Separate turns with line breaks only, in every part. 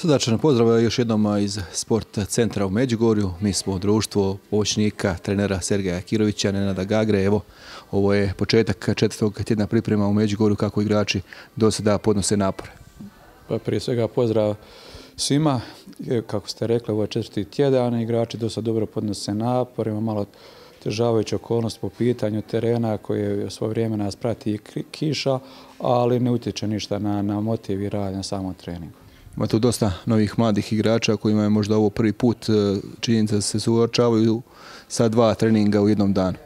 Srdačan pozdrav još jednom iz Sport centra u Međugorju. Mi smo društvo pomoćnika trenera Sergeja Kirovića, Nenada Gagre. Evo, ovo je početak četvrtog tjedna priprema u Međugorju kako igrači do sada podnose napore.
Pa prije svega pozdrav svima. Kako ste rekli, ovo je četvrti tjedan. Igrači do sada dobro podnose napore. Ima malo težavajuća okolnost po pitanju terena koje svo vrijeme nas prati kiša, ali ne utječe ništa na motiv i rad na samom treningu.
Ima tu dosta novih mladih igrača kojima je možda ovo prvi put činjenica da se suočavaju sa dva treninga u jednom danu.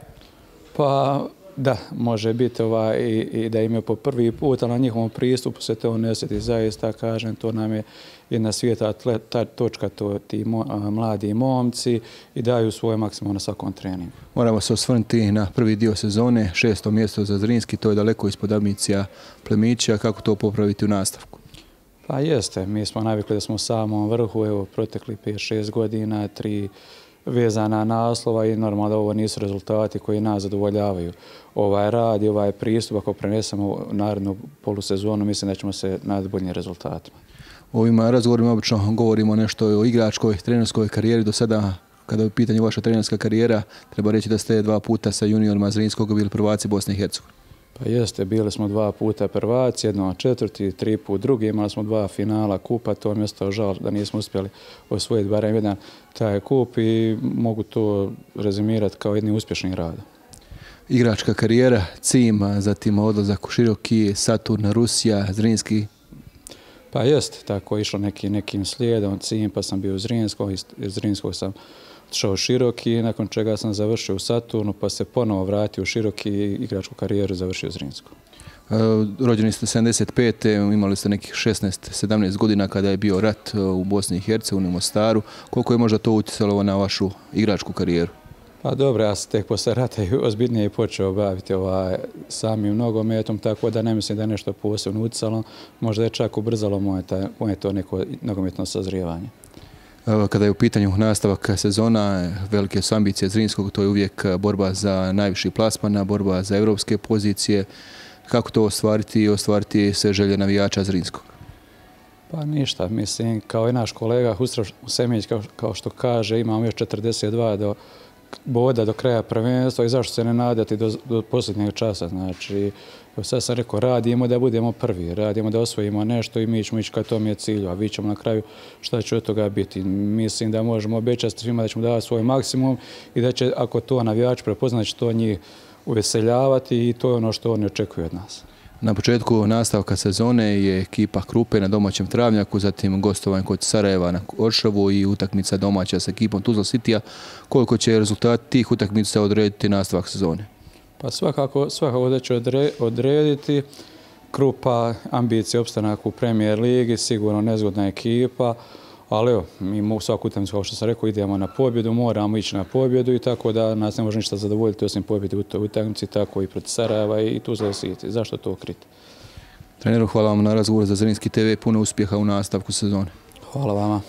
Pa da, može biti i da im je po prvi put, ali na njihovom pristupu se to ne osjeti. Zaista, kažem, to nam je jedna svijeta točka, ti mladi momci i daju svoj maksimum na svakom treningu.
Moramo se osvrnuti na prvi dio sezone, 6. mjesto za Zrinski, to je daleko ispod ambicija Plemića. Kako to popraviti u nastavku?
Pa jeste, mi smo navikli da smo u samom vrhu, evo protekli 5-6 godina, 3 vezana naslova i normalno da ovo nisu rezultati koji nas zadovoljavaju. Ovaj rad i ovaj pristup, ako prenesemo u narednu polusezonu, mislim da ćemo se nadati boljim rezultatima.
U ovim razgovorima obično govorimo nešto o igračkoj, trenerskoj karijeri. Do sada, kada je u pitanju vaša trenerska karijera, treba reći da ste 2 puta sa juniorima Zrinskog bili prvaci Bosne i Hercegovine.
Pa jeste, bili smo 2 puta prvaci, jednom četvrti, 3 put drugi, imali smo 2 finala kupa, to mi je ostao žal da nismo uspjeli osvojiti barem jedan taj kup i mogu to rezimirati kao jedni uspješni rad.
Igračka karijera, CIM, zatim odlazak u Široki, Saturn, Rusija, Zrinski.
Pa jeste, tako je išlo nekim slijedom, CIM pa sam bio u Zrinskog, iz Zrinskog sam otišao u Široki, nakon čega sam završio u Saturnu, pa se ponovo vratio u Široki i igračku karijeru završio u Zrinsku.
Rođeni ste 75. Imali ste nekih 16-17 godina kada je bio rat u Bosni i Hercegovini, u Mostaru. Koliko je možda to utjecalo na vašu igračku karijeru?
Pa dobro, ja sam tek posle rata ozbiljnije počeo baviti samim nogometom, tako da ne mislim da je nešto posebno utjecalo. Možda je čak ubrzalo moje to neko nogometno sazrijevanje.
Kada je u pitanju nastavak sezona, velike su ambicije Zrinskog, to je uvijek borba za najviši plasman, borba za evropske pozicije. Kako to ostvariti i ostvariti sve želje navijača Zrinskog?
Pa ništa, mislim, kao i naš kolega Husrev Semenić, kao što kaže, imamo još 42 boda do kraja prvenstva i zašto se ne nadati do posljednjeg časa. Znači, sad sam rekao, radimo da budemo prvi, radimo da osvojimo nešto i mi ćemo ići ka tom je cilju, a vi ćemo na kraju šta će od toga biti. Mislim da možemo obećati svima da ćemo davati svoj maksimum i da će, ako to navijač prepozna, će to njih uveseljavati i to je ono što oni očekuju od nas.
Na početku nastavka sezone je ekipa Krupe na domaćem Travnjaku, zatim gostovanje kod Sarajeva na Oršavu i utakmica domaća sa ekipom Tuzla Citya. Koliko će rezultat tih utakmica odrediti nastavak sezone?
Pa svakako da će odrediti. Krupa, ambicije, opstanak u Premier ligi, sigurno nezgodna ekipa, ali evo, mi svaku utakmicu, kao što sam rekao, idemo na pobjedu, moramo ići na pobjedu i tako da nas ne može ništa zadovoljiti osim pobjede u toj utakmici, tako i protiv Sarajeva i Tuzla City. Zašto to kriti?
Treneru, hvala vam na razgovor za Zrinski TV, puno uspjeha u nastavku sezone.
Hvala vama.